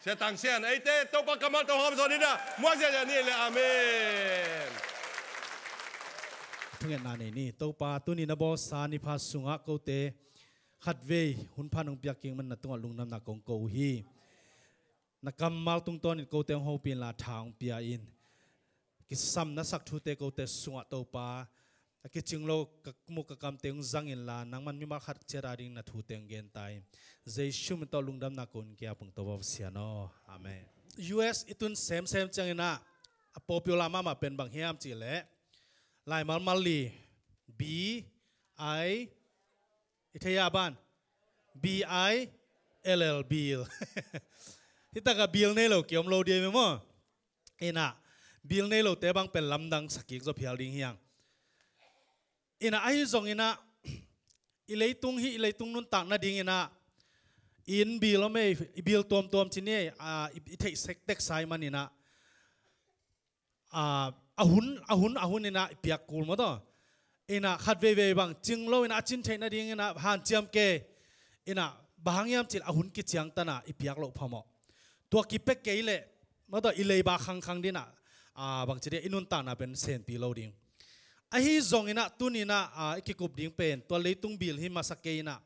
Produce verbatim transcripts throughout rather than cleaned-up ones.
Sia Tang Sian, eite Topa kammal tawh hawm zaw ni dah, muak ziahziah ni le. Amen. Thungetna nei ni. Topa, tuni na bawlsa ni pha sungah kote khatvei hun pha nong piak kik man na tungah lungdamna kong ko uh hi. Na kammal tungtawnin kote hong hopih inla tha hong pia in. Kisam na sak thute kote sungah Topa, a kicing lo ka muk ka kamte hong zang inla, nangman mimal khat ciat ading na thute hong genta in. Jesu min tawh lungdamna kong ko uh hi Topa Pasian aw. Amen. U S i tun semsem ciangin ah, a popular mahmah pen bang hiam cih leh, laimal mal li, B I, i thei a ban, B I L L, bill. Hih takah bill nei lo ki om lo ding hi maw. Inah, bill nei lote bang pen lamdang sa kik zaw phial ding hi hang. Inah, ahi zongin ah, i leitung hih, i leitung nuntak nadingin ah, inn bill om ei, i bill tuamtuam ci ni ei, a, i, i theih sek tek sa ahih manin ah, a, a hun, a hun, a hun inah i piak kul maw taw. Inah khat veivei bang cing lo inah a cin theih nadingin ah hanciam kei. Inah bang hang hiam cih leh a hun kiciangtan a i piak loh phamawh. Tua kipia kei leh maw taw, i leiba khangkhang ding inah, a, bangci ding, i nuntakna pen senpi lo ding. Ahi zongin ah tuni inah, a, i kikup ding pen tua leitung bill hi masa kei inah.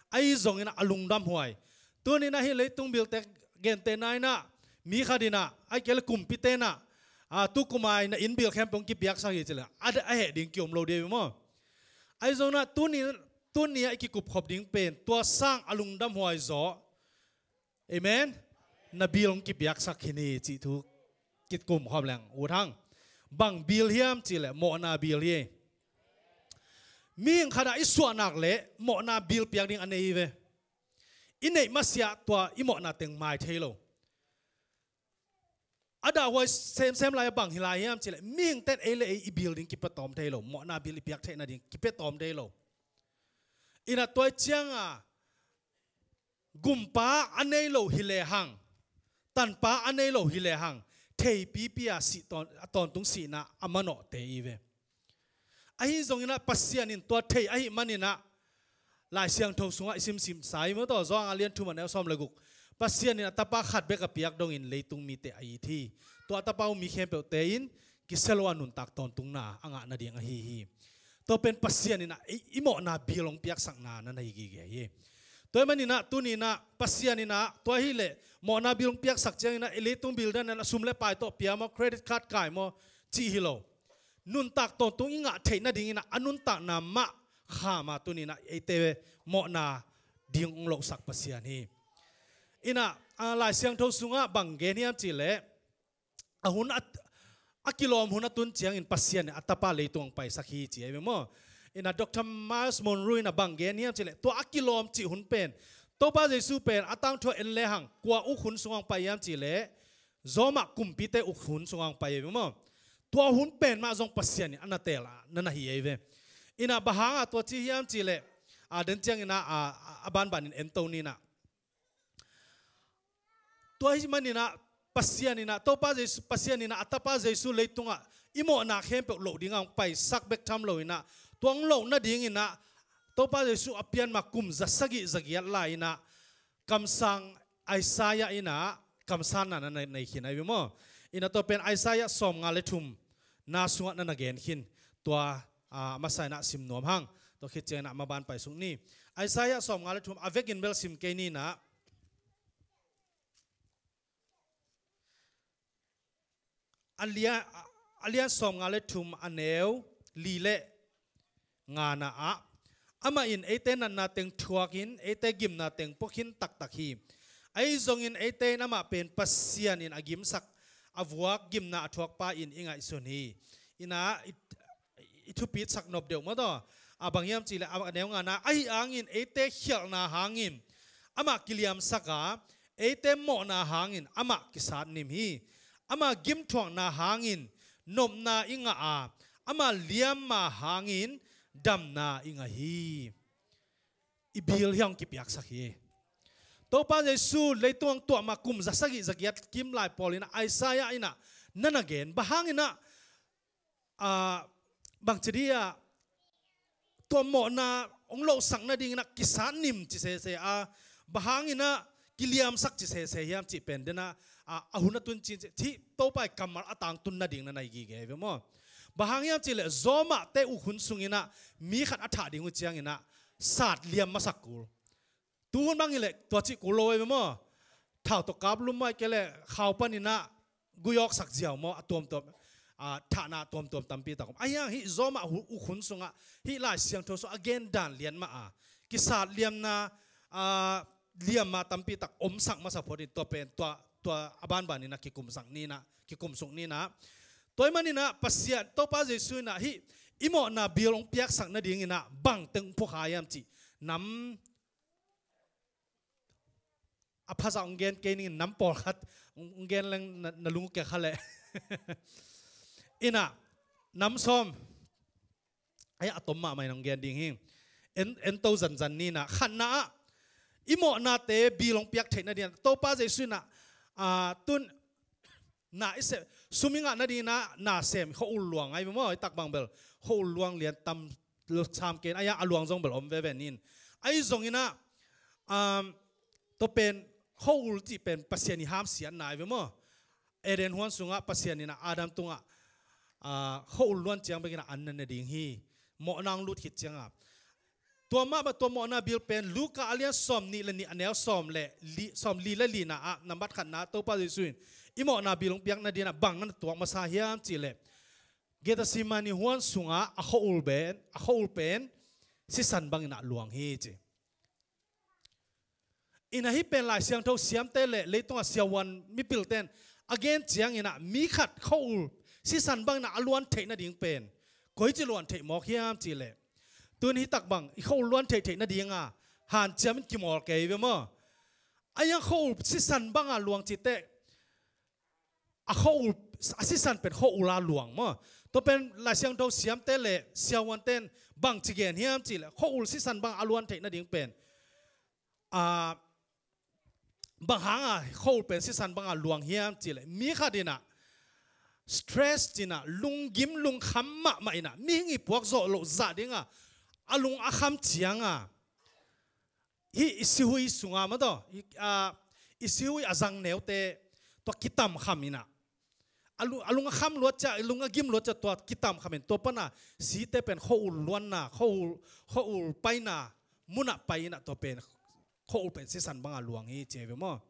Ahi zongin ah a lungdamhuai. Tuni inah hih leitung bill te gentehna inah, mi khat inah, ahih kei leh kumpite inah, a, tu kum a i inn bill khempeuh hong kipiaksak hi ci leh, a, a heh ding ki om lo ding hi maw. Ahi zongin ah tuni, tuni a i kikupkhop ding pen tua sang a lungdamhuai zaw. Amen. Na bill hong kipiaksak khin hi cih thu kikum khawm leng ut hang. Bang bill hiam cih leh mawhna bill hi. Mihing khat ah i suah nak leh mawhna bill piak ding a nei hi ve. I neih masiah tua i mawhna teng mai thei lo. A dahhuai semsem lai a bang hi lai hiam cih leh, mihingte'n ei le ei i bill ding kipia tawm thei lo, mawhna bill i piak theih nading kipia tawm thei lo. Inah tua ciang a, gumpa a nei lo hi lehang, tanpa a nei lo hi lehang, theipipi a sih tawn-, a tawntung sihna a manawhte i ve. Ahi zongin ah Pasian in tua thei ahih manin ah, Lai Siangtho sungah i simsim sa hi maw taw, Johan a lian thum a neu sawm le guk. Pasian in a Tapa khat bek a piak dongin leitung mite a it hi. Tua a Tapa uh mi khempeuhte in kisia lo a nuntak tawntungna a ngah nading ahi hi. Tua pen Pasian in ah i, i mawhna bill hong piaksakna na na hi gige hi. Tua ahih manin ah tuni inah Pasian in ah tua hi leh mawhna bill hong piaksak ciangin ah i leitung bill dan a sum le pai tawh pia maw, credit card kai maw, cih hi lo. Nuntak tawntung i ngah theih nadingin ah a nuntakna mah kham a tuni inah eite mawhna ding hong lohsak Pasian hi. Inah, a, Lai Siangtho sungah bang gen hiam cih leh, a hun a, a kilawm hun a tun ciangin Pasian in a Tapa leitung hong paisak hi ci ahi ve maw. Inah Doctor Myles Munroe inah bang gen hiam cih leh, tua a kilawm cih hun pen, Topa Jesu pen a tangthu a en lehang kua uk hun sungah hong pai hiam cih leh, Rome kumpite uk hun sungah hong pai hi maw. Tua hun pen mah zong Pasian in a na teel a na na hi ahi ve. Inah bang hang a tua ci hiam cih leh, a, den ciangin ah, a, a, a banbanin en to ni inah. Tua ahih manin ah Pasian in ah, Topa Jesu, Pasian in ah a Tapa Jesu leitungah i mawhna khempeuh loh dingah hong paisak bek tham lo inah, tua hong loh nadingin ah Topa Jesu a pian ma kum za sagih za giat lai inah, kamsang Isaiah inah kamsanna na nei, nei khin ahi ve maw. Inah tua pen Isaiah sawmnga le thum na sungah na na gen khin. Tua, a, masa inah sim nuam hang. Tua khit ciang inah maban pai suk ni. Isaiah sawmnga le thum a vekin bel sim kei ni inah. A lian, a lian sawmnga le thum a neu li le ngana ah, amah in eite natna teng thuakin eite gimna teng pua khin taktak hi. Ahi zongin eite in amah pen Pasian in a gimsak, a vuak gimna a thuakpa in i ngaihsun hi. Inah i, i thupitsak nop deuh maw taw. A bang hiam cih leh, a neu ngana, ahi hangin eite khialhna hangin amah kiliamsak a, eite mawhna hangin amah kisatnim hi. Ama gimthuakna hangin nopna i ngah a, ama liamma hangin damna i ngah hi. I bill hiah hong kipiaksak hi. Topa Jesu leitung hong tuah ma kum za sagih za giat kim lai pawl inah Isaiah inah na na gen. Bang hang inah, a, bangci dia tua mawhna hong lohsak nading inah kisatnim ci sese a, bang hang inah kiliamsak ci sese hiam cih pen dena, a, a hun a tun cin cih, Topa i kammal a tangtun nading na nai gige ve maw. Bang hang hiam cih leh Roma te uk hun sungin ah mi khat a thah ding uh ciangin ah sat liam masak kul. Tu hun bang hi leh tua cih kul lo ve maw. Thau tawh kap lum mai ke leh khau panin ah gui awksak ziau maw, a tuamtuam, a, thahna tuamtuam tampi tak om. A hiang hih Roma hu-, uk hun sungah hih Lai Siangtho sung a gen dan lian mah a kisat liamna, a, liamma tampi tak omsak masa phot in tua pen, tua, tua a banbanin ah kikumsak ni in ah, kikumsuk ni in ah. Tua ahih manin ah Pasian, Topa Jesu in ah hih i mawhna bil hong piaksak nadingin ah bang teng phukha hiam cih nam a phazah hong gen kei ning, nam pawlkhat hong, hong gen leng na, na lung uh kia kha leh. In ah, nam sawm. Ai, a tom mahmah in hong gen ding hi. En, en to zanzan ni in ah. Khatna ah i mawhnate bil hong piak theih nadingin ah Topa Jesu in ah, a, tun na i sem, sum i ngah nadingin ah na sem, khua-ul luang ai ve maw, i tak bang bel khua-ul luang lian tam sam ken, a hiang a luang zong bel om veve ni in. Ahi zongin ah, um, tua pen khua-ul cih pen Pasian i hamsiatna ai ve maw. Eden huan sungah Pasian in ah Adam tungah, a, khua-ul luan ciang bekin ah an na ne ding hi. Mawhna hong lut khit ciangah. Tua mah bang tua mawhna bil pen Luka a lian sawm nih le nih a neu sawm le li, sawm li le lina ah nambat khatna Topa Jesu in i mawhna bil hong piak nadingin ah bang na na tuak masa hiam cih leh Gethsemane huan sungah a khua-ul pen, a khua-ul pen sisan bangin ah luang hi ci. In ah hih pen Lai Siangtho siamte le leitungah siavuan mipilten a gen ciangin ah mi khat khua-ul sisan bangin ah a luan theih nading pen koici luan theih mawk hiam cih leh, tun hih tak bang i khua-ul luan theih theih nadinga hanciam in kimawl kei ve maw. A hiang khua-ul sisan banga luang cih teh a khua-ul, a sisan pen khua-ul a luang maw. Tua pen Lai Siangtho siamte le siavuanten bang ci gen hiam cih leh khua-ul sisan banga a luan theih nading pen, a, bang hanga khua-ul pen sisan banga luang hiam cih leh mi khat in ah stress ci in ah lunggim lungkham mahmah in ah mihing i puak zawh loh zah dinga a lung a kham cianga hih i sihui sunga maw taw, i, a, i sihui a zang neute tua kitamkham in ah a lu-, a lung a kham luat ciah, a lung a gim luat ciah tua kitamkham in tua pana site pen khua-ul luanna, khua-ul, khua-ul paina munah pai in ah tua pen khua-ul pen sisan banga luang hi ci ve maw.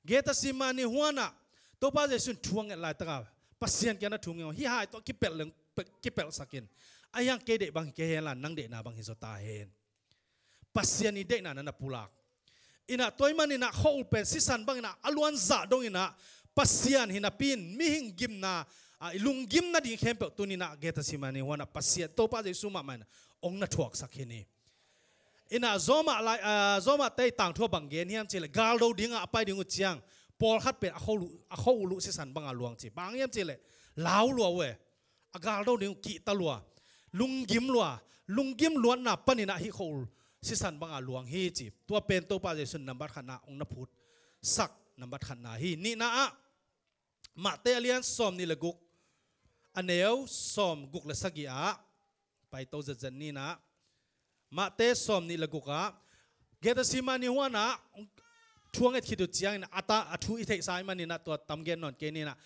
Gethsemane huanah Topa Jesu in thu a nget laitaka Pasian kiangah thu ngen, hih hai tawh kipelh leng, pe-, kipelhsak in. A hiang kei deih bang hi kei hen la, nang deihna bang hi zaw ta hen. Pasian i deihna na na pulak. In ah tua ahih manin ah khua-ul pen sisan bangin ah a luan zah dongin ah Pasian hi napi in mihing gimna, a, i lunggim nading khempeuh tuni in ah Gethsemane huanah Pasian Topa Jesu mahmah in ah hong na thuaksak hi ni. In ah Roma lai, a, Roma te i tangthu ah bang gen hiam cih leh galdo dinga a pai ding uh ciang pawlkhat pen a khua-ul, a khua-ul uh sisan banga luang ci. Bang hiam cih leh lau lua uh e. A galdo ding uh kihta lua, lunggim lua, lunggim luatna panin ah hih khua-ul sisan banga luang hi ci. Tua pen Topa Jesu in nambat khatna hong na phutsak nambat khatna hi. Nihna ah Matthai a lian sawm nih le guk, a neu sawm guk le sagih ah pai to zetzet ni in ah, Matthai sawm nih le guk ah Gethsemane huanah thu a nget khit uh ciangin a ta, a thu i theihsa ahih manin ah tua tam gen nawn kei ni in ah,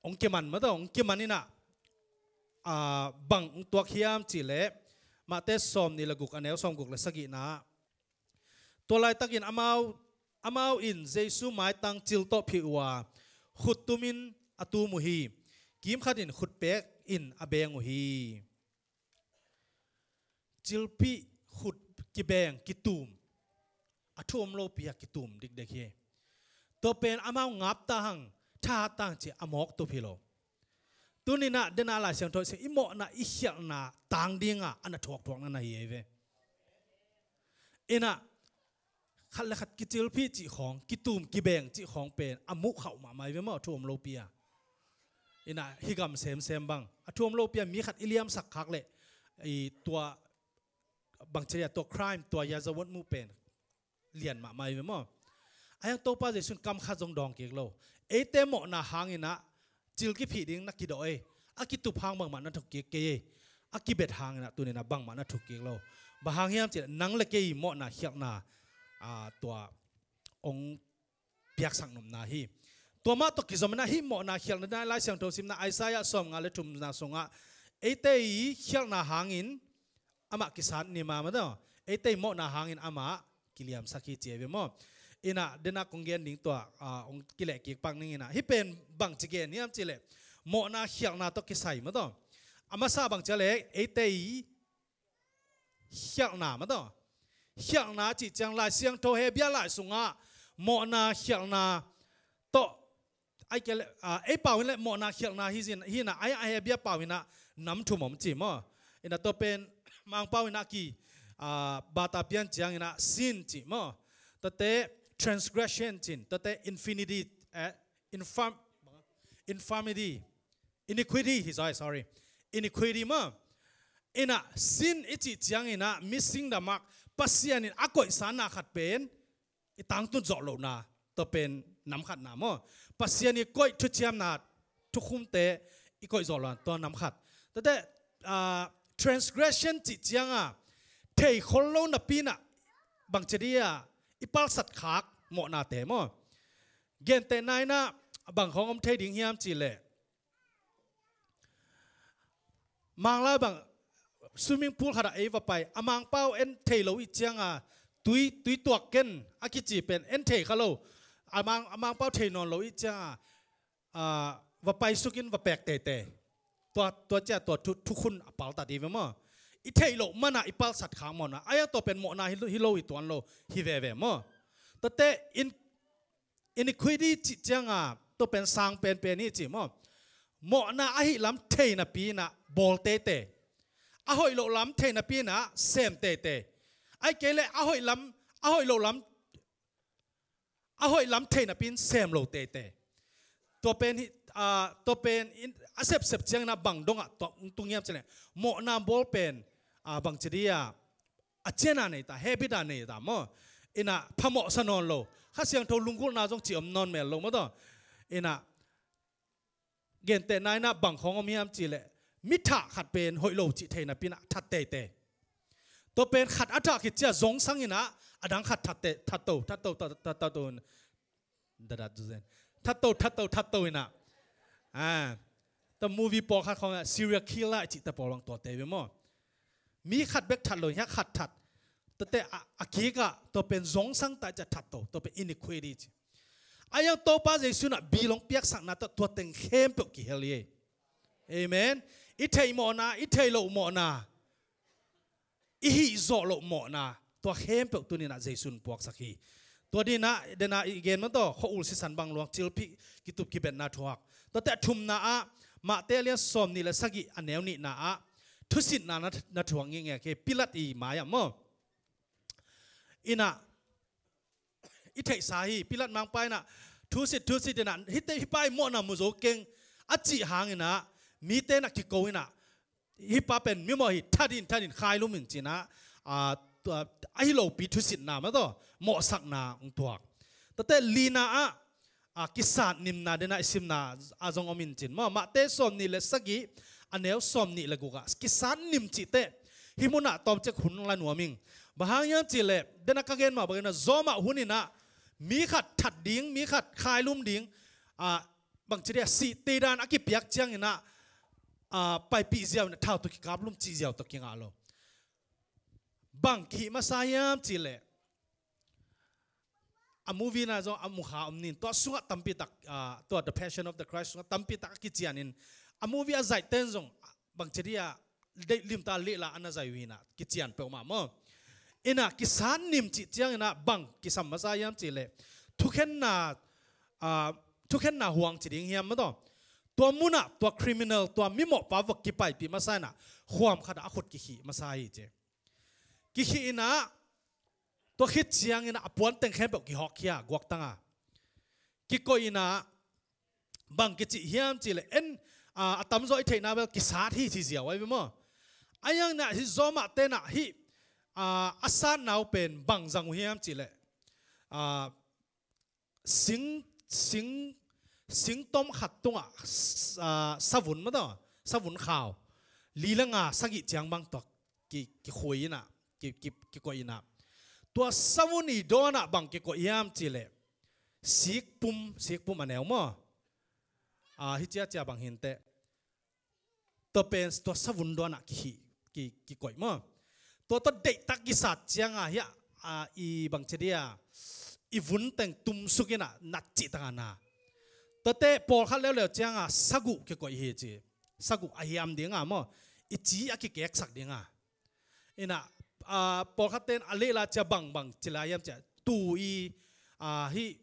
hong kiman mah tawh, hong kiman in ah, a, bang hong tuak hiam cih leh Matthai sawm nih le guk, a neu sawm guk le sagihna ah, tua laitakin amau, amau in Jesu maitang cil tawh phih uh a, khut tumin a tum uh hi. Kimkhat in khutpek in a beng uh hi. Cilphih, khut kibeng, kitum, a thu om lopi a kitum dikdek hi. Tua pen amau ngap ta hang, thahat ta hang ci a mawk tup hi lo. Tuni in ah dena Lai Siangtho i sim, i mawhna i khialhna tang dinga a na thuakthuakna na hi ei ve. In ah khat le khat kicilphih cih khawng, kitum kibeng cih khawng pen a muh khauh mahmah hi ve maw, a thu om lopi a. In ah hih gam semsem bang a thu om lopi a mi khat i liamsak khak leh, i tua bangci a, tua crime, tua yazawat mu pen lian mahmah hi ve maw. A hiang Topa Jesu in kam khat zong dawng kik lo. Eite mawhna hangin ah cil kiphih ding na kidawh ei. A kitup hang bangmah na thuk kik kei ei. A kibet hangin ah tuni in ah bangmah na thuk kik lo. Bang hang hiam cih leh nang le kei mawhna khialhna, a, tua hong piaksak nopna hi. Tua mah tawh kizom in ah hih mawhna khialhna ding ah Lai Siangtho simna Isaiah sawmnga le thumna sungah eite i khialhna hangin amah kisat nim a, maw taw, eite i mawhna hangin amah kiliamsak hi ci hi ve maw. In ah den a kong gen ding tua, ah, hong kilehkik pak ning in ah, hih pen bangci gen hiam cih leh mawhna khialhna tawh kisai, maw taw. A masa bangci a leh eite i khialhna, maw taw. Khialhna cih ciang Lai Siangtho Hebru lai sungah mawhna khialhna tawh, ai ke le, ah, ei pau in leh mawhna khialhna hi zin, hi in ah, ai, ai Hebru pau in ah nam thum om ci maw. In ah tua pen Mangpau in ah ki, ah, bata pian ciang in ah sin ci maw. Tuate transgression cin, tuate infinity, eh, infirm-, infirmity, iniquity hi zaw, sorry. Iniquity maw. In ah sin i cih ciang in ah missing the mark, Pasian in a koihsakna khat pen i tangtun zawh lohna, tua pen nam khatna maw. Pasian i koih thuciamna, thukhunte i koih zawh lohna, tua nam khat. Tuate, ah, transgression cih ciang a thei khol lo napi in ah bangci ding a i palsat khak mawhnate maw. Gentehna in ah bang khawng om thei ding hiam cih leh, Manglai bang swimming pool khat ah ei va pai, a Mangpau en thei lo i ciang a tui, tui tuak ken a kici pen en thei kha lo. A Mang, a Mangpau thei nawn lo i ciang a, ah, va pai suk in va pek teitei. Tua, tua ciang tua thu, thukhun a paltat hi ve maw. I theih loh man a i palsat khak mawhna. Ai a tua pen mawhna hi, hi lo, hi tuan lo, hi veve maw. Tuate in, iniquity cih ciang a tua pen sang penpen hi ci maw. Mawhna ahih lam thei napi in ah bawl teitei. A hoih loh lam thei napi in ah sem teitei. Ai ke leh a hoih lam, a hoih loh lam, a hoih lam thei napi in sem lo teitei. Tua pen hi, ah, tua pen in, a sepsep ciang in ah bang dong ah tua tung hiam cih leh, mawhna bawl pen, ah, bangci ding a, a cian a nei ta, habit a nei ta maw. In ah phamawh sa nawn lo. Kha Siangtho lunggulhna zong cih om nawn mel lo maw taw. In ah gentehna in ah bang khawng om hiam cih leh, mi thah khat pen hoih lo cih thei napi in ah that teitei. Tua pen khat a thah khit ciang zongsang in ah a dang khat that te, that to, that to, that, that, that to. Dadat zuzen. That to, that to, that to in ah. Ah. Tua movie pawlkhat khawng ah serial killer cih te pawl bang tuate ve maw. Mi khat bek that lo, hiah khat that. Tuate a, a kik ah tua pen zongsang ta ciang that to, tua pen iniquity ci. A iang Topa Jesu in ah bilong piaksakna tawh tua teng khempeuh kihel hi. Amen. I theih mawhna, i theih loh mawhna, i hih zawh loh mawhna, tua khempeuh tuni in ah Jesu in puaksak hi. Tua ding in ah, den a i gen maw taw, khua-ul sisan bang luang, cilphih, kitup kibetna thuak. Tuate a thumna ah, Mate a lian sawmnih le sagih a neu nihna ah, thusitna na, na thuak ngekngek hi, Pilat i mai ah maw. In ah, i theihsa hi, Pilat mangpa in ah, thusit, thusit in ah, hihte, hih pa i mawhna mu zo keng, a cih hang in ah, mite in ah kiko in ah, hih pa pen mimawh hi, that in, that in, khailum in ci in ah, ah, tua, ahi lopi thusitna maw taw, mawhsakna hong thuak. Tuate lina ah, ah, kisat nimna den a i simna a zong om in cin maw. Mate sawmnih le sagih, a neu sawmnih le guk ah, kisat nim cih teh hih mun ah tawmcik hun la nuam ing. Bang hang hiam cih leh, den a ka gen mah bangin ah, zawmah hun in ah mi khat that ding, mi khat khailum ding, ah, bangci ding a, sih teidan a kipiak ciang in ah, ah, paipih ziau in ah thau tawh kikaplum cih ziau tawh kingah lo. Bang kihih masa hiam cih leh, a movie na zong a mukha om ning, tua sungah tampi tak, ah, tua The Passion of the Christ sungah tampi tak a kician in, a movie a zaihte in zong bangci ding a, deih limta lehla a na zai uh hi in ah, kician peuhmah maw. In ah kisat nim cih ciang in ah bang kisam masa hiam cih leh, thukhenna, ah, thukhenna huang ci ding hiam maw taw. Tua mun ah tua criminal, tua mimawhpa va kipaipih masa in ah, khuam khat ah a khut kikhih masa hi ci. Kikhih in ah, tua khit ciang in ah a puan teng khempeuh kihawkkhia, guaktang a. Kikoih in ah, bang kici hiam cih leh, en, ah, a tamzaw i theihna bel kisat hi ci ziau ahi ve maw. A iang in ah hih zawmahte in ah hih, ah, a satna uh pen bang zang uh hiam cih leh, ah, sing, sing, singtom khat tungah, s-, ah, savun maw taw, savun khau li le nga sagih ciang bang tuak ki, kikhui in ah, ki, ki, kikoih in ah. Tua savun i dawnah bang kikoih hiam cihleh, sikpum, sikpum a neu maw? A, hi ciacia bang hinteh. Tua pen tua savun dawnah kihih, ki, kikoih maw? Tua tua deihtak kisat cianga hiah, a, i bang ci dia, i vun teng tumsuk inah nat cih tangah na. Tuate pawlkhat leuleu cianga saguh kikoih hi ci. Saguh a hiam dinga maw? I ci a kikeksak dinga. Inah, a, pawlkhat ten a lehla cia bangbang ci lai hiam cia, tu i, a, hi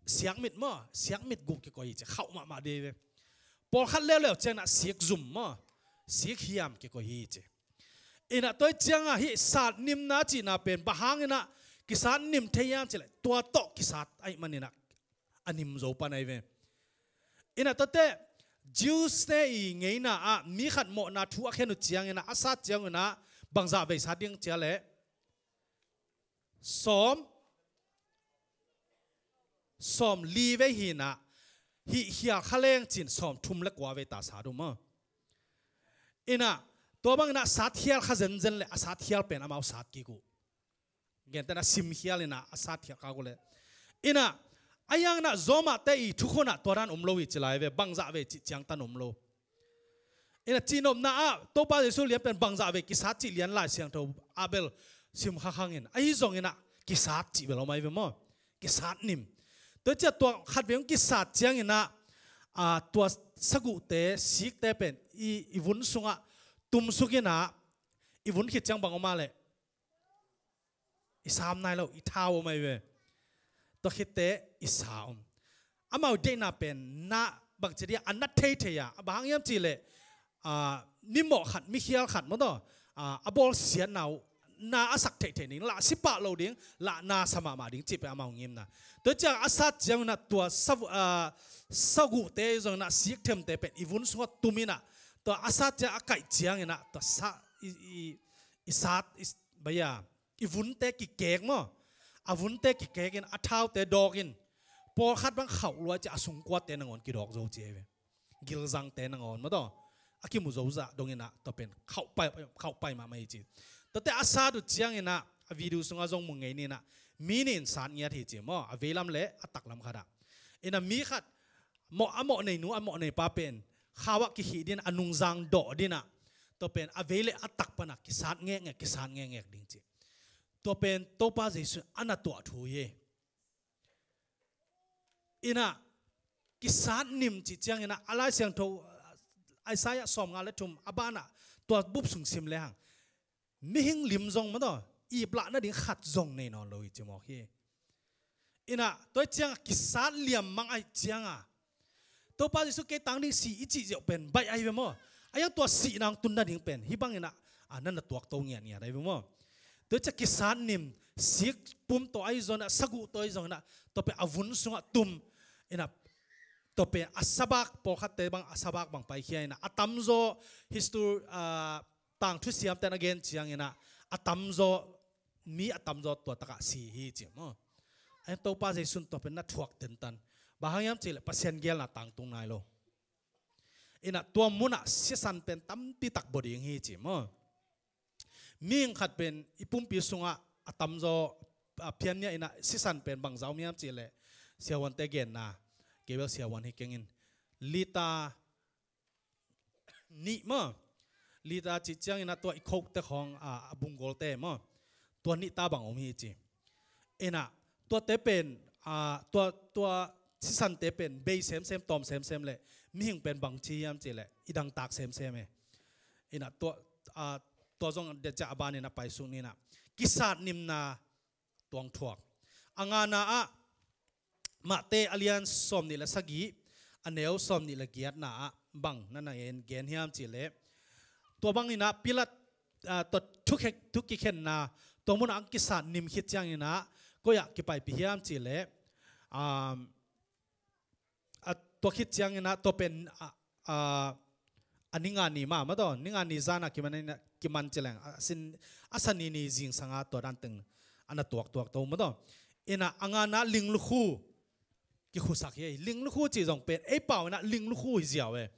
siakmit maw, siakmit guh kikoih hi cia, khauh mahmah dei ve. Pawlkhat leuleu cia inah sikzum maw, sikhiam kikoih hi cia. Inah tua cianga hi satnimna cihna pen bang hang inah kisat nim thei hiam cileh, tua tawh kisat ahih man inah a nim zo pan ahi ve. Inah tuate Jews te i ngeina ah mi khat mawhna thu a khen uh ciang inah a sat ciang inah bangzah vei sat ding cia leh sawm, sawm li vei hi inah hih khial kha leng cin sawm thum le kua vei ta sat uh maw? Inah tua bang inah sat khial kha zenzen le a sat khial pen amau sat kik uh. Gentehna simkhial inah a sat khial kha uh le. Inah a hiang inah Roma te i thukhun ah tua dan um lo hi ci lai ve, bangzah vei cih ciangtan um lo. Inah cihnopna ah Topa Jesu lian pen bangzah vei kisat cih lian Lai Siangtho ah bel sim khakhang in. Ahi zong inah kisat cih bel om ahi ve maw? Kisat nim. Tua cia tua khat vei hong kisat ciang inah, a, tua saguhte, sikte pen i, i vun sungah tumsuk inah i vun khit ciang bang om a leh i sam nai lo, i thau om ahi ve. Tua khitte i sa om. Amau deihna pen na bang ci dia a na theithei a, a bang hang hiam cihleh, a, mimawh khat, mikhial khat maw taw, a, a bawlsiatna uh na a sak theithei ding, lah si pah lo ding, lah na sa mahmah ding cih pen amau ngimna. Tua ciang a sat ciang inah tua sa, a, saguhte zong inah sikthemte pen i vun sungah tum inah tua a sat ciang a kaih ciang inah tua sa i, i, i sat i, baya i vunte kikek maw? A vunte kikek in a thaute dawk in pawlkhat bang khauh luai cia a sungkuate nangawn kidawk zo cia hi ve. Gilzangte nangawn maw taw a kimu zozah dong inah tua pen khauh pai, khauh pai mahmah hi ci. Tuate a sat uh ciang inah a video sungah zong mu ngei ni inah mi nih in sat ngiat hi ci maw? A veilam le a taklam khatah. Inah mi khat mawh, a mawh nei nu, a mawh nei pa pen khau ah kikhih din, a nungzang dawh dinah tua pen a vei le a tak panah kisat ngekngek, kisat ngekngek ding ci. Tua pen Topa Jesu a na tuah thu hi. Inah kisat nim cih ciang inah a Lai Siangtho Isaiah sawmnga le thum a banah tua bup sung sim lehang mihing lim zong maw taw iplahna ding khat zong nei nawn lo hi ci mawk hi. Inah tua ciangah kisat liam mang ahi cianga Topa Jesu kei tang ding si i cih ziau pen baih ahi ve maw? A hiang tua sihna hong tun nading pen hih bang inah, a, na na tuak to ngiatngiat ahi ve maw? Tua ciah kisat nim, sik pum tawh ahi zong inah, saguh tawh ahi zong inah, tua pen a vun sungah tum inah, tua pen a sabak, pawlkhatte bang a sabak bang paikhia inah a tamzaw history, a, tangthu siamte na gen ciang inah a tamzaw, mi a tamzaw tua takah si hi ci maw? A hiang Topa Jesu in tua pen na thuak tentan. Bang hang hiam cihleh Pasian gelna tangtung nai lo. Inah tua munah sisan pen tampi tak baw ding hi ci maw? Mihing khat pen i pumpi sungah a tamzaw, a, phiannia inah sisan pen bangzah om hiam cihleh siavuante genna, kei bel siavuan hi keng in lita nih maw? Lita cih ciang inah tua i khokte khawng, a, a bunggawlte maw? Tua nih ta bang om hi ci. Inah tuate pen, a, tua, tua sisante pen bei semsem, tawm semsem le mihing pen bang ci hiam cihleh i dangtak semsem e. Inah tua, a, tua zong deh ciah a ban inah paisuk ni inah kisat nimna tuang thuak. A ngana ah Mate a lian sawmnih le sagih, a neu sawmnih le giatna ah bang na na gen, gen hiam cihleh, tua bang inah Pilat, a, tua thukhek, thu kikhenna tua munah ang kisat nim khit ciang inah koi ah kipaipih hiam cihleh, um, a, tua khit ciang inah tua pen, a, a, a ninga ni mah, mah tawh, ninga ni zan a kiman, kiman ci leng, a sin, a sani ni zingsang a tua dan teng a na tuaktuak to, mah tawh. Inah a ngana linglukhu kikhusak hi, linglukhu cih zong pen ei pau inah linglukhu hi ziau e.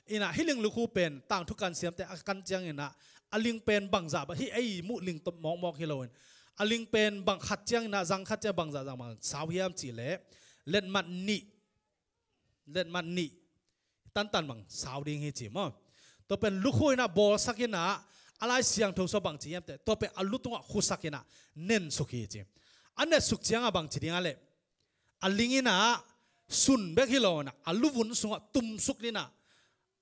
Inah hih linglukhu pen tangthu kan siamte a kan ciang inah a ling pen bangzah bang, hih ei muh ling tawh mawkmawk hi lo in, A ling pen bang khat ciangin ah, zang khat ciang bang zah zang bang sau hiam cih leh, letmat nih, letmat nih tantan bang sau ding hi ci maw. Tua pen lukhu in ah bawlsak in ah, a Lai Siangtho sung bang ci hiam cih leh, tua pen a lu tungah khusak in ah nensuk hi ci. A nensuk ciangah bang ci ding a leh, a ling in ah sun bek hi lo in ah, a luvun sungah tumsuk in ah,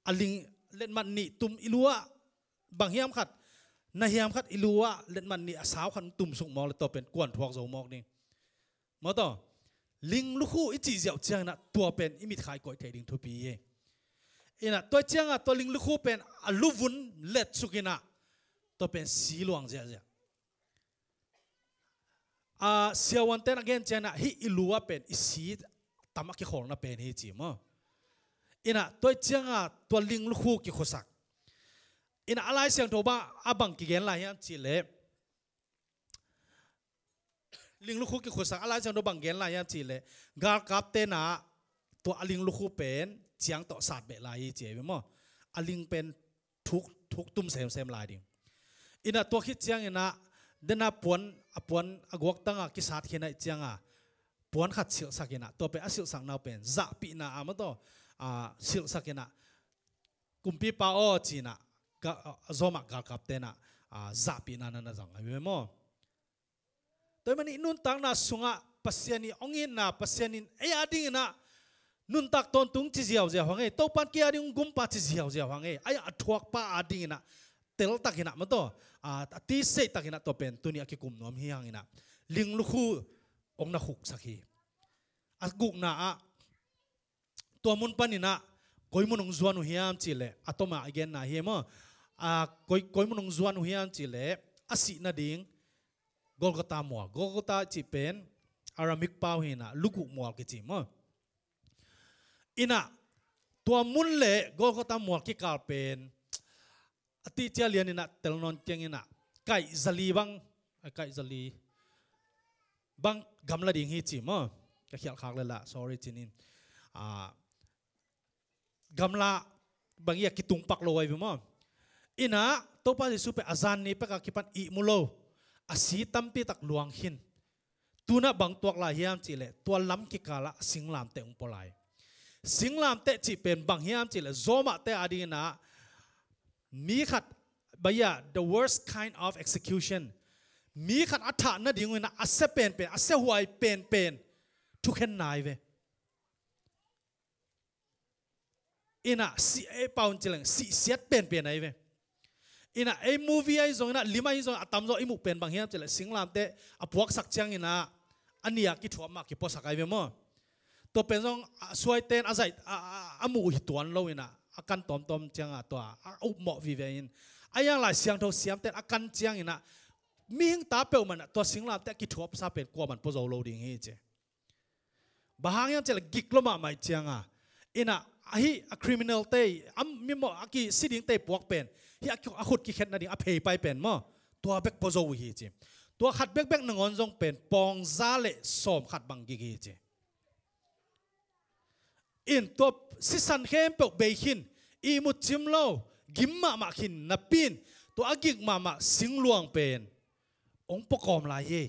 a ling, letmat nih tum i lu ah, bang hiam khat, na hiam khat i lu ah letmat nih a sau khat tumsuk mawk leh tua pen kuan thuak zo mawk ding. Maw taw, ling lukhu i cih ziau ciangin ah tua pen i mitkhai koih theih ding thupi hi. In ah tua ciangah tua ling lukhu pen a luvun letsuk in ah tua pen si luang ziahziah. A, siavuante'n a gen ciangin ah hih i lu ah pen i si tam a kikhawlna pen hi ci maw. In ah tua ciangah tua ling lukhu kikhusak. In ah a Lai Siangtho bang a bang kigen lai hiam cih leh, ling lukhu kikhusak a Lai Siangtho bang gen lai hiam cih leh, galkapte'n ah tua a ling lukhu pen ciang tawh sat beh lai hi ci hi maw. A ling pen thuk, thuk tum semsem lai ding. In ah tua khit ciangin ah, den a puan, a puan a guaktang ah kisat khin ahih ciangah puan khat silhsak in ah, tua pen a silhsakna uh pen zahpihna a maw taw, a, silhsak in ah, kumpipa aw ci in ah, ga-, a, Roma galkapte'n ah, a, zahpihna na na zang ahi ve maw. Tua ahih manin nuntakna sungah Pasian ii hong itna, Pasian in ei a dingin ah nuntak tawntung ci ziauziau hang ei, Topa'n kei a ding hong gumpa ci ziauziau hang ei, a, a thuakpa a dingin ah teltak in ah maw taw, a, a tiseitak in ah tua pen tuni a kikum nuam hi hang in ah ling lukhu hong na khuksak hi. A gukna ah, tua mun panin ah koi mun hong zuan uh hiam cih leh, a tom a i genna hi maw. A, koi, koi mun hong zuan uh hiam cih leh, a sih nading Golgotha mual. Golgotha cih pen Aramaic pau hi in ah, luguk mual kici maw. In ah tua mun leh Golgotha mual kikal pen a tihcia lian in ah tel nawn keng in ah, kaih zali bang, a, kaih zali bang gamla ding hi ci maw. Ka khialh khak leh lah, sorry cin in. A, gamla bang ii a kitung pak lo ahi ve maw. In ah Topa Jesu pen a zan ni pek a kipan ihmu lo, a si tampi tak luang khin. Tu-in ah bang tuak lai hiam cih leh, tua lam kikal ah singlamteh hong pua lai. Singlamteh cih pen bang hiam cih leh, Romate a dingin ah mi khat, baya, the worst kind of execution. Mi khat a thah nading uh in ah a sia penpen, a siahuai penpen thukhenna ahi ve. In ah sih, ei pau in ci leng, sihsiat penpen ahi ve. In ah ei movie ahi zongin ah, lim ahi zongin ah, a tamzaw i muh pen bang hiam cih leh, singlamteh a puaksak ciangin ah a nih a kithuap mah kipuasak ahi ve maw. Tua pen zong, a, suaite'n a zaih, a, a, a muh uh hi tuan lo in ah, a kan tawmtawm ciangah tua a upmawh vive in, a, hiang Lai Siangtho siamte'n a kan ciangin ah mihing ta peuhmah in ah tua singlamteh a kithuapsa pen kuamah'n pua zo lo ding hi ci. Bang hang hiam cih leh, gik lua mahmah ahih ciangah, in ah, ahi a criminal te, a mimawh a kisi dingte puak pen, hih a, a khut kikhet nading a pheipai pen maw, tua bek pua zo uh hi ci. Tua khat bekbek nangawn zong pen pawng za leh sawm khat bang gik hi ci. In tua sisan khempeuh bei khin, ihmut cim lo, gim mahmah khin napi in, tua a gik mahmah singluang pen hong pua kawm lai hi.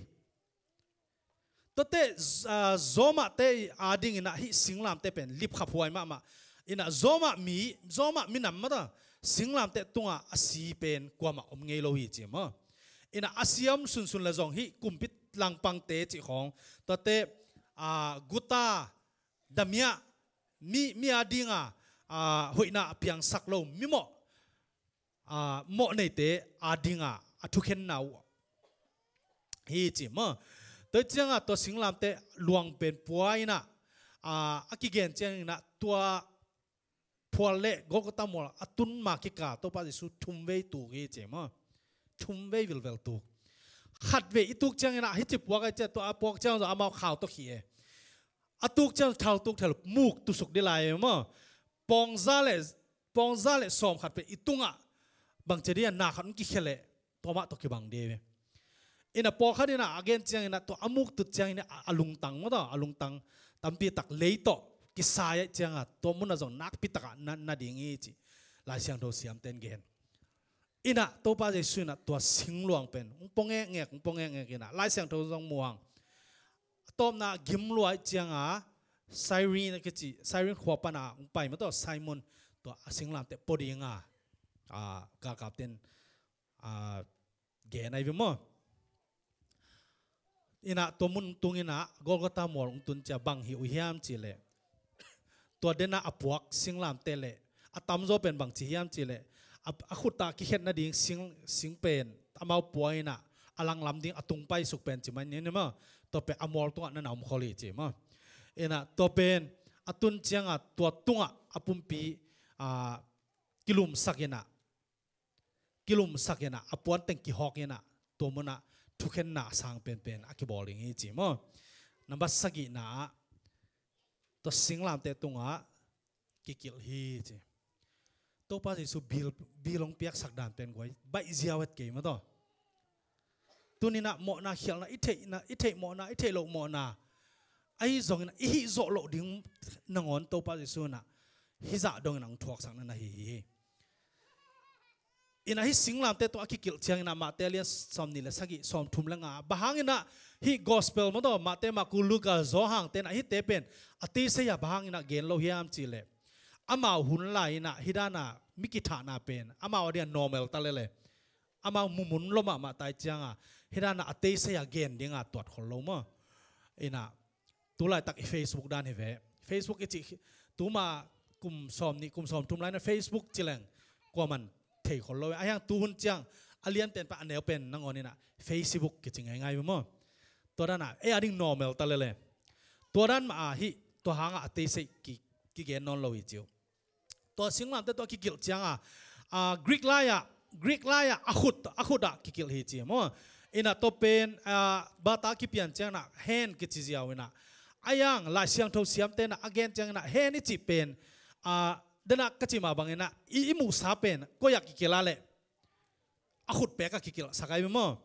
Tuate, a, Romate a dingin ah hih singlamteh pen lipkhaphuai mahmah. In ah Roma mi, Roma minam mah ta singlamteh tungah a si pen kuamah om ngei lo hi ci maw. In ah a si a om sunsun leh zong hih kumpi langpangte cih khawng, tuate, a, guta, damiah, mi, mi a dingah, a, hoihna a piangsak lo, mimawh, a, mawh neite a dingah a thukhenna uh hi ci maw. Tua ciangah tua singlamteh luang pen pua in ah, a, a kigen ciangin ah tua phual leh Golgotha mual a tun ma kikal Topa Jesu thumvei tuk hi ci maw. Thumvei vilvel tuk. Khatvei i tuk ciangin ah hih ci puak a, tua a puak ciang zong amau khau tawh khih e. A tuk ciang thal tuk thal muk tusuk dih lai maw. Pawng za leh, pawng za leh sawm khat pen i tungah bang ci dih a, na khat hong kikhia leh tua mah tawh kibang dih ve. In ah pawlkhat in ah a gen ciangin ah tua a muk tut ciangin ah a lungtang maw ta, a lungtang tampi tak lei tawh kisai ahih ciangah tua munah zong nakpi takah na, na ding hi ci Lai Siangtho siamte'n gen. Inah Topa Jesu inah tua singluang pen hong pua ngekngek, hong pua ngekngek inah Lai Siangtho zong muang. A tawpna gim luai cianga Cyrene a kici, Cyrene khua pana hong pai mah tawh Simon tua a singlamteh pua dinga, a, galkapten, a, gen ahi ve maw. Inah tua mun tung inah Golgotha mual hong tun cia bang hi uh hiam cih leh, tua dena a puak singlamteh leh a tamzaw pen bang ci hiam cih leh, a, a khut a kikhet nading sing, sing pen amau pua inah a langlam ding a tung paisuk pen ci mai ni maw. Tua pen a mual tungah na na om khol hi ci maw. Inah tua pen a tun cianga tua tungah a pumpi, a, kilumsak inah, kilumsak inah a puanteng kihawk inah tua munah thukhenna a sang penpen a kibawl ding hi ci maw. Nambat sagihna ah tua singlamteh tungah kikilh hi ci. Topa Jesu bil, bil hong piaksak dan pen guai baih ziau het kei mah tawh. Tuninah mawhna khialhna i theihna, i theih mawhna, i theih loh mawhna ahi zongin i hih zawh loh ding nangawn Topa Jesu inah hih zah dongin a hong thuaksakna na hi hi. Inah hih singlamteh tawh a kikilh cianginah Matthai lian sawmnih le sagih, sawmthum le nga, bang hanginah hih gospel mah tawh Matthai, Marku, Luka, Johan tenah hihte pen a teisei a bang hanginah gen lo hiam cih leh, amau hun lai inah hih dana mi kithahna pen amau a dingah normal ta lele. Amau mumun lo mahmah tai cianga hih dana a teisei a gen dinga tuat khol lo maw. Inah tulaitak i Facebook dan hi ve. Facebook i cih tuma kum sawmnih, kum sawmthum lai na Facebook ci leng kuaman thei khol lo. A hiang tuhun ciang a lianpen pan a neupen nangawn inah Facebook kici ngaingai ve maw. Tua dana ei a ding normal ta lele. Tua dan mah a hih tua hanga a teisei ki, kigen nawn lo hi ci uh. Tua singlamteh tua kikilh cianga, a, Greek lai-ah, Greek lai-ah a khut, a khut ah kikilh hi ci maw. Inah tua pen, a, bata kipian cianginah hand kici ziau inah. A hiang Lai Siangtho siamte inah a gen cianginah hand i cih pen, a, dena ka cih mah banginah i, i muhsa pen koi ah kikilh a leh a khutpek a kikilhsak ahi maw.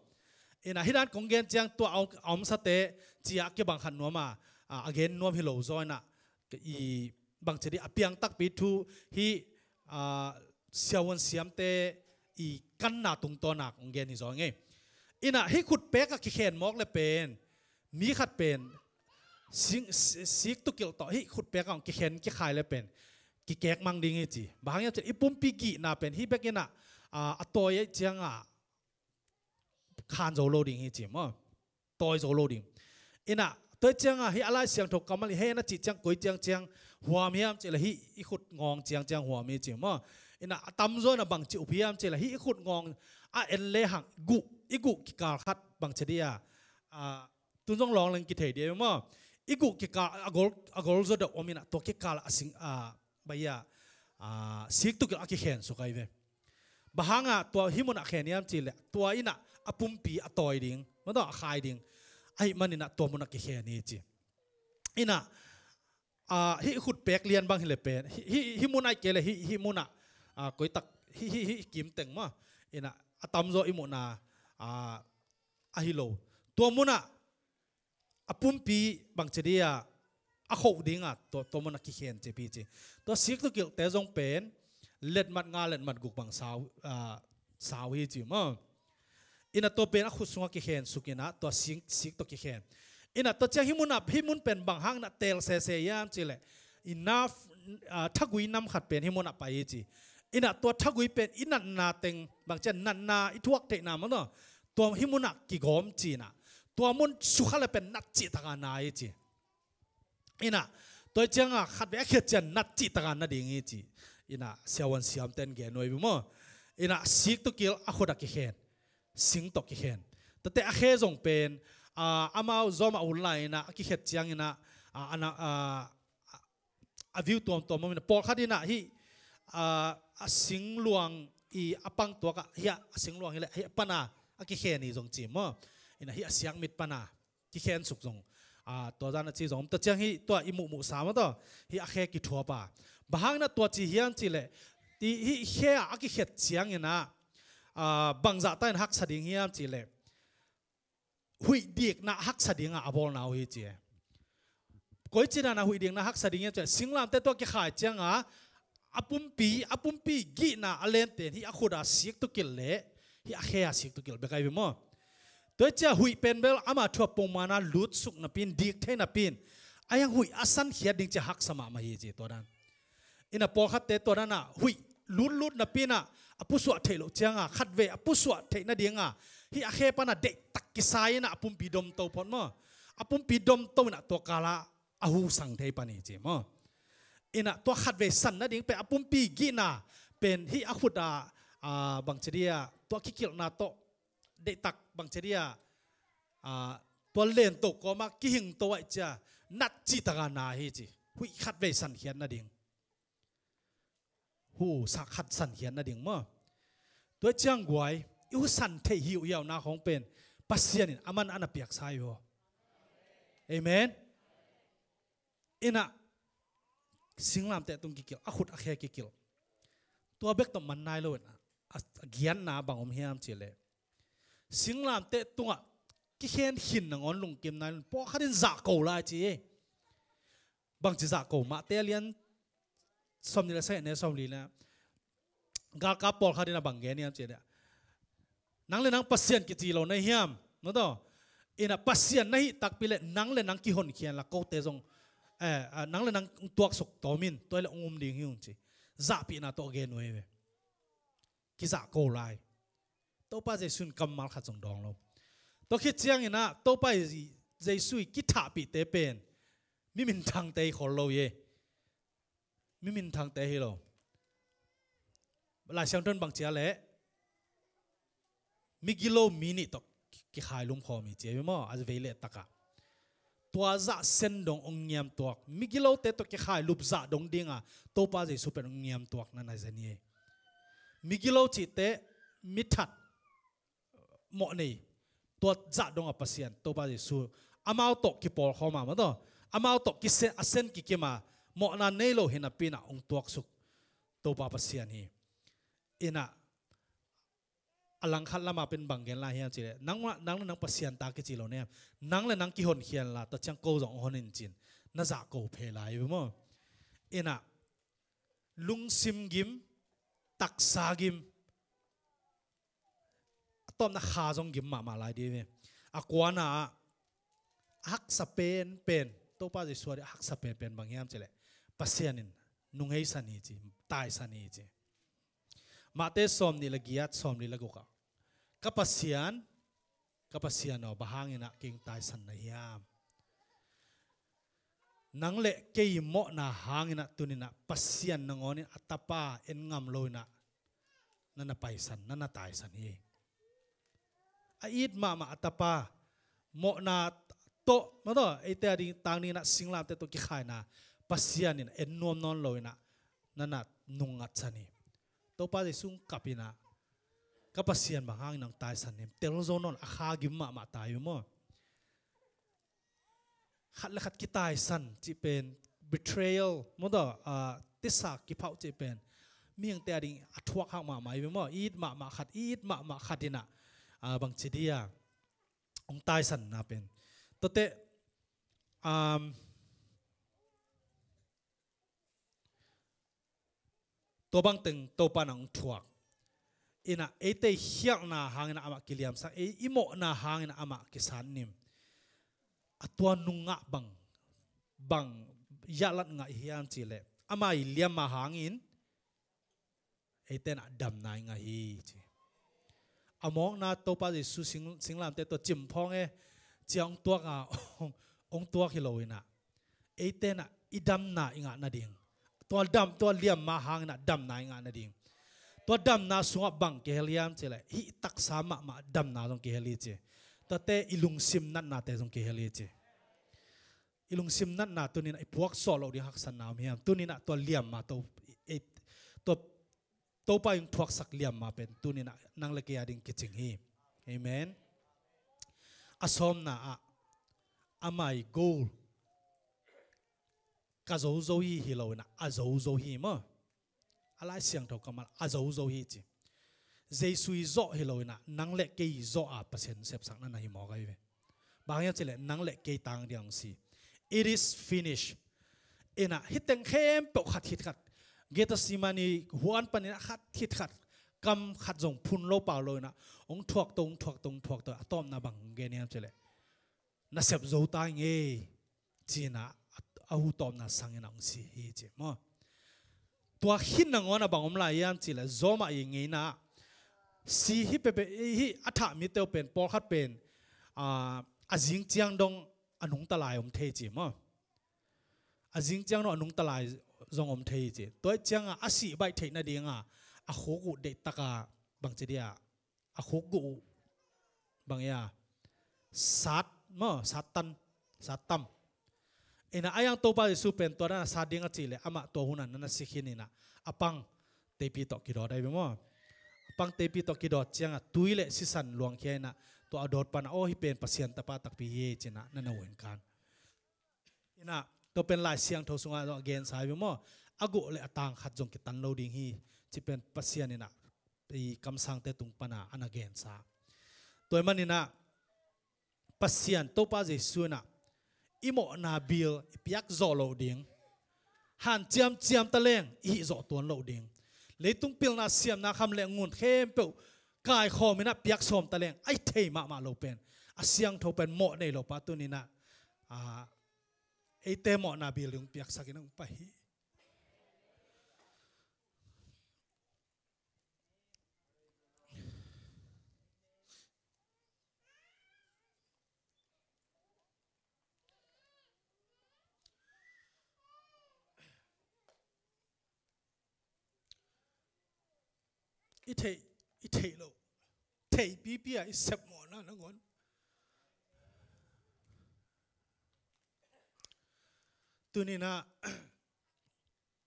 Inah hih dan kong gen ciang tua a om, a omsate cia kibang khat nuam a, a, a gen nuam hi lo zaw inah i bangci dih a piang takpi thu hih, a, siavuan siamte i kanna tungtawna kong gen hi zaw ngei. Inah hih khutpek a kikhen mawk le pen mi khat pen sing, si, sik tukilh tawh hih khutpek a kikhen kikhai le pen kikek mang ding hi ci. Bang hang hiam cih leh i pumpi gihna pen hih bek inah, a, a tawi aih cianga khan zo lo ding hi ci maw. Tawi zo lo ding. Inah tua cianga hih a Lai Siangtho kammal i hand a cih ciang koi ciang ciang huam hiam cih leh hih i khut ngawng ciang ciang huam hi ci maw. Inah a tamzaw inah bangci up hiam cih leh hih i khut ngawng a en le hang guh, i guh kikal khat bangci dih a, a, tun zong lawng leng kithei dih maw. I guh kikal a gol, a gol zaw deuh om inah tua kikal a sing, a, bai a, a, sik tukilh a kikhen suk ahi ve. Bang hanga tua hih munah khen hiam cih leh tua inah a pumpi a tawi ding, mah tawh a khai ding. Ahih maninah tua munah kikhen hi ci. Inah, a, hih khutpek lian bang hi le pen hih, hih, hih mun aih kei le hih, hih munah, a, koitak hih, hih, hih kimteng maw. Inah a tamzaw i muhna, a, ahi lo. Tua munah a pumpi bangci dih a, a khoh dinga tua, tua munah kikhen cih pi ci. Tua sik tukilhte zong pen letmat nga letmat guk bang sau, a, sau hi ci maw. Inah tua pen a khut sungah kikhen suk inah tua sik, sik tawh kikhen. Inah tua ciang hih munah, hih mun pen bang hang inah teel sese hiam cih leh inah, a, thagui nam khat pen hih munah pai hi ci. Inah tua thagui pen i natna teng bangci a natna i thuak theihna mah tawh tua hih munah kigawm ci inah tua mun sukha le pen nat cih taka na hi ci. Inah tua cianga khatvei a khiat ciang nat cih taka na ding hi ci. Inah siavuan siamten gen nuai bi maw. Inah sik tukilh a khut a kikhen, sing tawh kikhen. Tate a khe zong pen, a, amau zawm a hun lai inah a kikhet cianginah, a, a, a, a view tuamtuam om inah pawlkhat inah hih, a, a singluang i a pang tuakah hih a singluang hi leh hih a pana a kikhen hi zong ci maw. Inah hih a siakmit pana kikhen suk zong, a, tua zan a ci zong om. Tua ciang hih tua i muhmuhsa mah tawh hih a khe kithuap a. Bang hang inah tua ci hiam cih leh hih khe ah a kikhet cianginah, a, bangzahta in haksa ding hiam cih leh huih dikna haksa dinga a bawlna uh hi ci. Koici dana huih dikna haksa ding hiam cih leh singlamteh tua kikhai cianga A pumpi, a pumpi gihna a lente in hih a khut a sik tukilh leh hih a khe a sik tukilh bek ahi ve maw. Tua hi ciang huih pen bel ama thu a pongman a lutsuk napi in, dik thei napi in, a hiang huih a sankhiat ding ci a haksa mahmah hi ci tua dan. Ina pawlkhatte tua dan a huih lutlut napi in a pusuah theih loh ciang a khatvei a pusuah theih nading a hih a khe pan a deihtak kisai in a pumpi domto phot maw. A pumpi domto in a tua kal a a hu sang thei pan hi ci maw. Ina tua khatvei san nading pen a pumpi gihna pen hih a khut a, a, bangci dia tua kikilhna tawh deihtak bangci dia, a, tua lento kawm a kihingto ahih ciang nat cihtak a na hi ci. Huih khatvei sankhiat nading. Hu sa khat sankhiat nading maw. Tua hi ciang guai, i hu san theih hiuhiauna khawng pen Pasian in a man a na piaksa hi vaw. Amen. Ina singlamteh tung kikilh, a khut a khe kikilh. Tua bek tawh man nai lo in a, a, a giatna bang om hiam cih leh singlamteh tungah kikhen khin nangawn lungkim nai lo in pawlkhat in zahko lai ci hi. Bangci zahko, Matthai a lian sawmnih le sagih, neu sawmli le galkap pawlkhat in a bang gen hiam cih leh, nang le nang Pasian kici lo na hiam? Maw taw. Ina Pasian na hih takpi leh nang le nang kihonkhia inla kote zong, eh, ah, nang le nang tuaksuk tawm in, tua hi leh hong um ding hi ung ci. Zahpihna tawh gen uh hi ve. Kizahko lai. Topa Jesu in kammal khat zong dawng lo. Tua khit ciangin a Topa Jesu i kithahpihte pen mi minthangte hi khol lo hi. Mi minthangte hi lo. Lai Siangtho in bang ci a leh migilo mi nih tawh kikhailum khawm hi ci hi maw, a vei leh takah. Tua zah sen dong hong ngiamtuak, migilote tawh kikhailup zah dong ding a Topa Jesu pen hong ngiamtuak na na zen hi. Migilo cihte mithat mawh nei, tua zah dong a Pasian Topa Jesu amau tawh kipawl khawm a, maw taw, amau tawh kise-, a sen kikim a, mawhna nei lo hi napi in a hong tuaksuk Topa Pasian hi. Ina a langkhat lamah pen bang gen lai hiam cih leh, nang, nang le nang Pasian ta kici lo na hiam? Nang le nang kihonkhia inla, tua ciang ko zong hong hon in ci-in na zahko phei lai hi maw. Ina lungsim gim, taksa gim, a tawpna kha zong gim mahmah lai ding hi ve. A kuana ah a haksa penpen, Topa Jesu a ding a haksa penpen bang hiam cih leh Pasian in nungheisan hi ci, taisan hi ci. Matthai sawmnih le giat, sawmli le guk ah, ka Pasian, ka Pasian aw, bang hangin a kei hong taisan na hiam? Nang le kei mawhna hangin a tuni-in a Pasian nangawn in a Tapa en ngam lo-in a na na paisan, na na taisan hi. A it mahmah a Tapa, mawhna tawh, maw taw, eite a ding tang dingin a singlamteh tawh kikhaina Pasian in en nuam nawn lo-in a na na nungngatsan hi. Topa Jesu hong kap-in a, ka Pasian bang hangin hong taisan hiam, tel zo nawn, a kha gim mahmah ta hi maw. Khat le khat kitaisan cih pen, betrayal, maw taw, ah, tisa kiphauh cih pen mihingte a ding a thuak hak mahmah hi ve maw. I it mahmah khat, i it mahmah khat in a, ah, bangci dia hong taisanna pen. Tuate, um, tua bangteng Topa in hong thuak. In a eite i khialhna hangin a amah kiliamsak, ei i mawhna hangin a amah kisatnim. A tua nungah bang, bang yahlat ngah hiam cih leh, ama i liamma hangin eite in a damna i ngah hi ci. A mawkna Topa Jesu sing, singlamteh tawh cimphawng e, ci-a hong tuak a, hong tuak hi lo-in a, eite in a i damna i ngah nading, tua dam, tua liamma hangin a damna i ngah nading, tua damna sungah bang kihel hiam cih leh, hih taksa mahmah damna zong kihel hi ci. Tuate i lungsim natnate zong kihel hi ci. I lungsim natna tuni-in a i puak sawh loh ding haksatna om hiam? Tuni-in a tua liamma to, ei, tua Topa in thuaksak liamma pen tuni-in a nang le kei a ding kicing hi. Amen. A sawmna ah, ama i goal ka zozo hi hi lo-in a, a zozo hi maw. A Lai Siangtho kammal a zozo hi ci. Jesu i zawh hi lo-in a, nang le kei i zawh a Pasian sepsakna na hi mawk ahi ve. Bang hiam cih leh nang le kei tang ding hong si. It is finished. In a, hih teng khempeuh khat khit khat Gethsemane huan panin a khat khit khat, kam khat zong phun lo pau lo inah, hong thuak to, hong thuak to, hong thuak to, a tawpna bang gen hiam cih leh, na sep zo ta ing ei, ci-inah a, a hu tawpna sangin a hong si hi ci maw. Tua khit nangawn a bang om lai hiam cih leh, Rom ah i ngeina ah, si hi pehpeh hi, a thah mite uh pen, pawlkhat pen, a, a zing ciang dong a nungta lai om thei ci maw. A zing ciang dong a nungta lai zong om thei hi ci. Tua ciangah a sih baih theih nadinga a khuk uh deihtaka bangci dia, a khuk guh uh bang ia, sat maw, sat tan, sat tam. Inah a iang Topa Jesu pen tua dan a sat ding a cih leh amah tua hunah na na si khin inah, a pang teipi tawh kidawt ahi ve maw. A pang teipi tawh kidawt ciangah tui le sisan luangkhia inah, tua a dawt panah, aw, hih pen Pasian Tapa takpi hi ei, ci-inah na na uh in kan. Inah, tua pen Lai Siangtho sungah zong a gensa hi ve maw. A guh le a tang khat zong kitan lo ding hi, ci pen Pasian inah i kamsangte tung pana a na gensa. Tua ahih maninah Pasian Topa Jesu inah i mawhna bil i piak zawh loh ding, hanciam ciam taleng i hih zawh tuan loh ding, leitung pilna siamna kham le ngun khempeuh kaikhawm inah piak sawm taleng a i thei mahmah lo pen, a siangtho pen mawh nei lo pa tuni inah, a, eite mawhna bil ding piaksak in hong pai hi. I theih, i theih loh, theih pipi a i sep mawhna nangawn. Tuni inah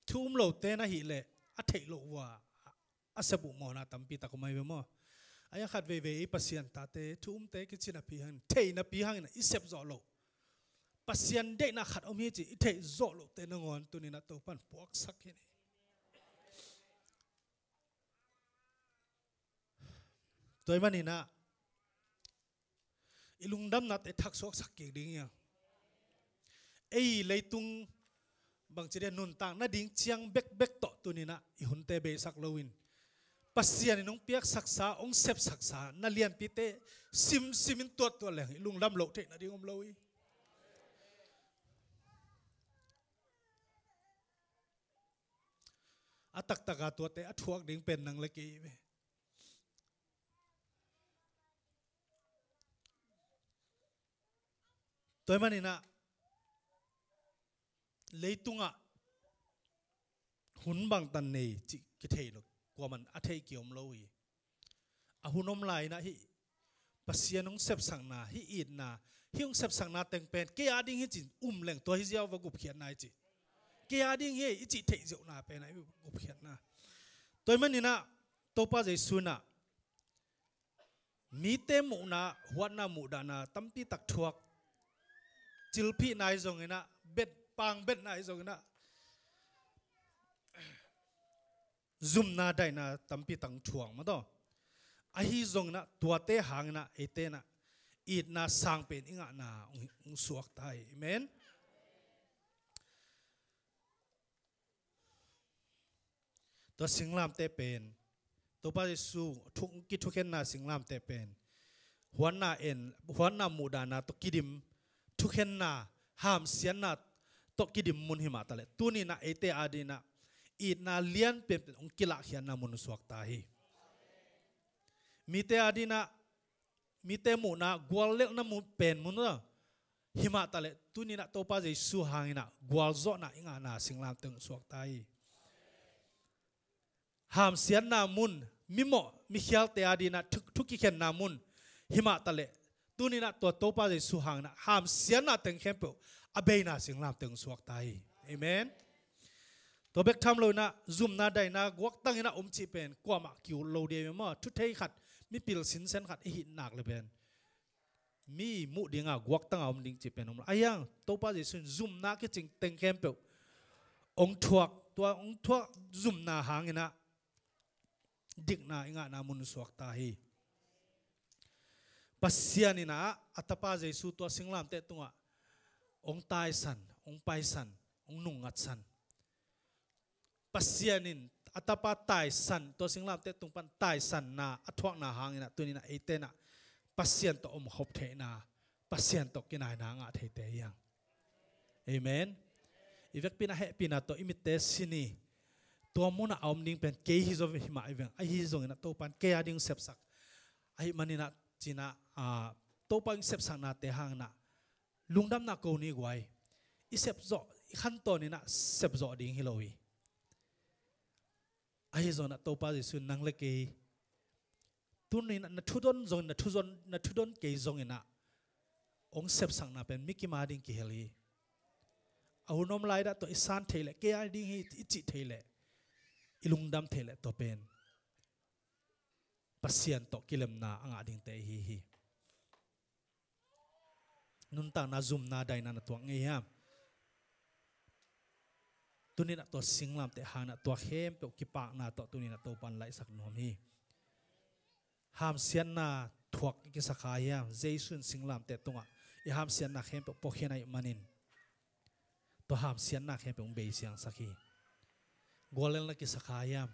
thu um lote na hih leh a theih loh uh a, a sep uh mawhna tampi tak om ahi ve maw. A iang khat veivei i Pasian tate, thu umte kici napi hangin, theih napi hangin i sep zawh loh, Pasian deihna khat om hi ci i theih zawh lohte nangawn tuni inah Topan puaksak hi ni. Tua ahih maninah i lungdamnate thaksuaksak kik ding hi a. Ei leitung bangci dia nuntak nading ciang bekbek tawh tuni inah i hunte beisak loin, Pasian in hong piaksaksa, hong sepsaksa na lianpite simsimin tuattuat leng i lungdam loh theih nading om lo hi. A taktaka tuate a thuak ding pen nang le kei hi ve. Tua ahih maninah leitungah hun bangtan nei cih kithei lo, kuaman a thei kiom lo hi. A hun om lai inah hih Pasian hong sepsakna, hih itna, hih hong sepsakna teng pen kei a ding hi ci-in um leng tua hi ziau va gupkhiatna hi ci. Kei a ding hi i cih theih ziauhna pen a i gupkhiatna. Tua ahih maninah Topa Jesu inah mite muhna, huatna, muhdahna tampi tak thuak, cilphihna hi zong inah, bet, pangbetna hi zong inah, zumna daihna tampi tak thuak maw taw. Ahi zong inah tuate hang inah eite inah itna sang pen i ngahna hong, hong suak ta hi. Amen. Tua singlamteh pen, Topa Jesu thu, kithukhenna singlamteh pen, huatna en, huatna muhdahna tawh kidim, thukhenna, hamsiatna tawh kidim mun hi mah taleh, tuni inah eite a ding inah itna lian penpen hong kilahkhiatna mun suak ta hi. Mite a ding inah, mite muhna guallelhna mun pen mun hi mah taleh, tuni inah Topa Jesu hang inah gualzawhna i ngahna singlamteh hong suak ta hi. Hamsiatna mun, mimawh mikhialte a ding inah thu, thu kikhenna mun hi mah taleh, tuni inah tua Topa Jesu hang inah hamsiatna teng khempeuh a beina singlamteh hong suak ta hi. Amen. Tua bek tham lo inah zumna daihna guaktang inah om cih pen kuamah ki-ut lo ding hi maw. Thuthei khat, mipil sinsen khat i hih nak le pen mi muh dinga guaktanga om ding cih pen om lo. Ahi hang Topa Jesu in zumna kicing teng khempeuh hong thuak, tua hong thuak zumna hang inah dikna i ngahna mun suak ta hi. Pasian inah a Tapa Jesu tua singlamteh tungah hong taisan, hong paisan, hong nungngatsan. Pasian in a tapa taisan, tua singlamteh tung pan taisanna a thuakna hangin ah tuni-in ah eite in ah Pasian tawh omkhop theihna, Pasian tawh kinaina a ngah theite hi hang. Amen. I vekpi-in ah hehpihna tawh i mitte sin hi. Tua munah a om ding pen kei hi zaw hi mah hi veng. Ahi zongin ah Topa'n kei a ding sepsak, ahih manin ah ci-in ah, ah, Topa in sepsaknate hangin ah lungdamna ko ni guai. I sepzawh, i khantawn in ah sepzawh ding hi lo hi. Ahi zongin ah Topa Jesuh in nang le kei, tuni-in ah na thudon zongin, na thudon, na thudon kei zongin ah hong sepsakna pen mi kim a ding kihel hi. A hun om lai dah tawh i san theih leh, kei a ding hi i cih theih leh, i lungdam theih leh, tua pen Pasian tawh kilemna a ngah dingte i hi hi. Nuntakna zumna daina na tuak ngei hiam? Tuni-in ah tua singlamteh hangin ah tua khempeuh kipakna tawh tuni-in ah Topa'n laihsak nuam hi. Hamsiatna thuak i kisa kha hiam? Jesuh in singlamteh tungah i hamsiatna khempeuh puakhiat ahih manin tua hamsiatna khempeuh hong beisiangsak hi. Guallelhna kisa kha hiam?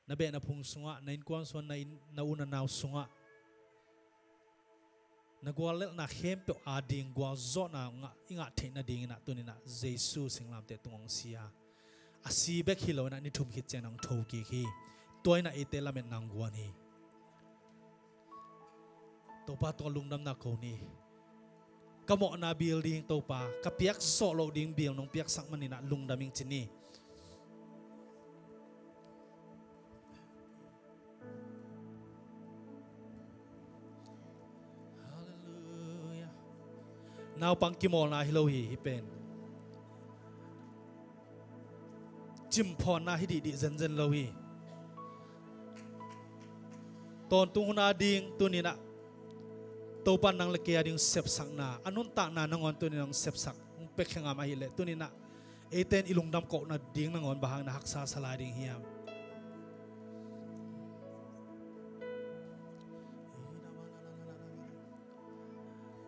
Na beh na phung sungah, na innkuan sungah, na inn, na u na nau sungah na guallelhna khempeuh ading gualzawhna ngah, i ngah theih nadingin ah tuni-in ah Jesuh singlamteh tung hong si a, a si bek hi lo-in ah ni thum khit ciangin ah hong thokik hi. Tua in ah eite lametna hong guan hi. Topa tungah lungdamna ko ni. Ka mawhna bil ding Topa, ka piak zawh loh ding bil nong piaksak manin ah lungdam ing ci ni. Halleluiah. Naupang kimawlna hi lo hi, hih pen. Cimphawnna hi dihdih zenzen lo hi. Tawntung hun ading tuni-in ah Topa'n nang le kei ading sepsakna, a nuntakna nangawn tuni-in ah hong sepsak, hong pia khe ngam ahih leh tuni-in ah eite in i lungdam kohna ding nangawn bang hangin ah haksa sa lai ding hiam?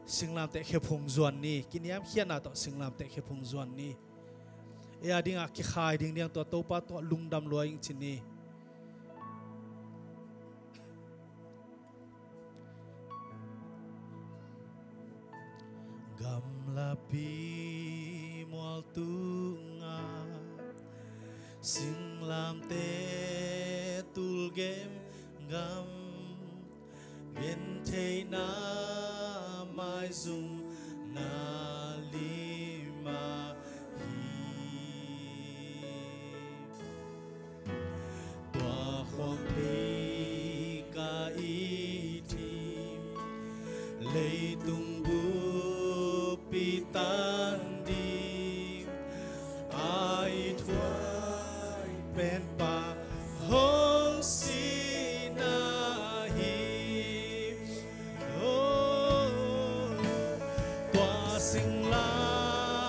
Singlamteh khephung zuan ni, kiniamkhiatna tawh singlamteh khephung zuan ni. Ei adingin ah kikhai ding ding tua Topa tungah lungdam lua ing ci ni. Gamlapi mual tungah singlamteh tul gemgam, gentheihna maizumna lim ahi. Tua khuangpi ka i thim, leitung bup i tan ding, a i thuak pen Pa hong sihna hi. Oh, tua singlamteh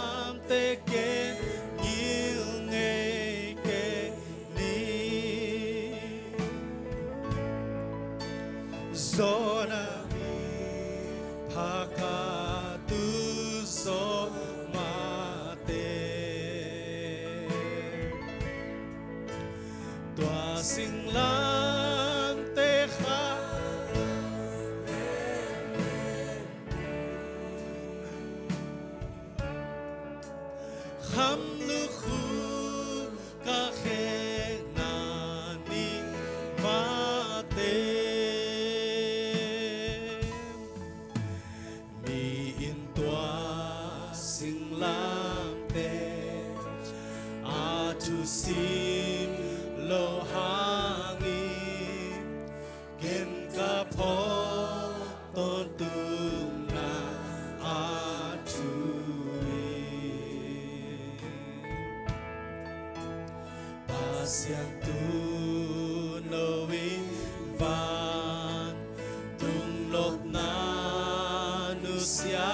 ken ngil ngei kei ni. Zawhna mi pha ka tu zawh mah teh, tua singlamteh kha kham lukhu ka khekna ni mah teh. Mi in tua singlamteh a thusim loh hangin, ken ka phawk tawntungna a thu hi. Pasian tu no in vantung nopna nusia